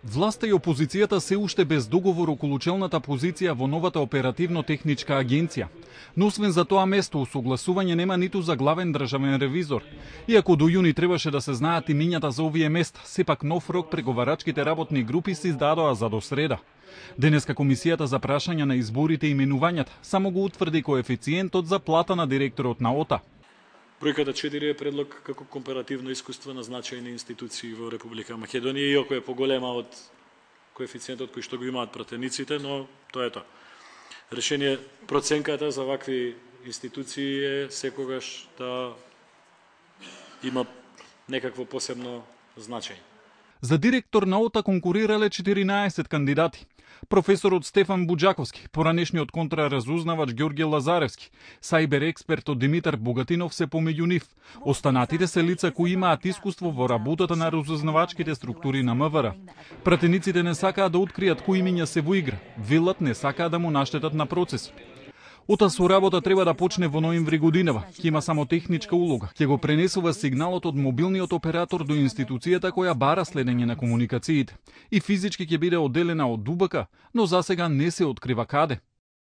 Власта и опозицијата се уште без договор околу челната позиција во новата оперативно-техничка агенција. Но освен за тоа место, усогласување нема ниту за главен државен ревизор. Иако до јуни требаше да се знаат имињата за овие места, сепак нов рок преговарачките работни групи се издадоа за до среда. Денеска Комисијата за прашања на изборите и именувањата само го утврди коефициентот за плата на директорот на ОТА. Бројката 4 е предлог како компаративно искуство на значајни институции во Република Македонија, иако е поголема од коефициентот кој што го имаат пратениците, но тоа е тоа. Решение проценката за вакви институции е секогаш да има некакво посебно значење. За директор на ОТА конкурирале 14 кандидати. Професорот Стефан Буџаковски, поранешниот контраразузнавач Ѓорѓе Лазаревски, сајбер експертот Димитар Богатинов се помеѓу нив. Останатите се лица кои имаат искуство во работата на разузнавачките структури на МВР. Пратениците не сакаат да откријат кои имиња се во игра, велат не сакаат да му наштетат на процесот. ОТА со работа треба да почне во ноември годинава. Ќе има само техничка улога. Ќе го пренесува сигналот од мобилниот оператор до институцијата која бара следење на комуникациите. И физички ќе биде одделена од ДУБК, но засега не се открива каде.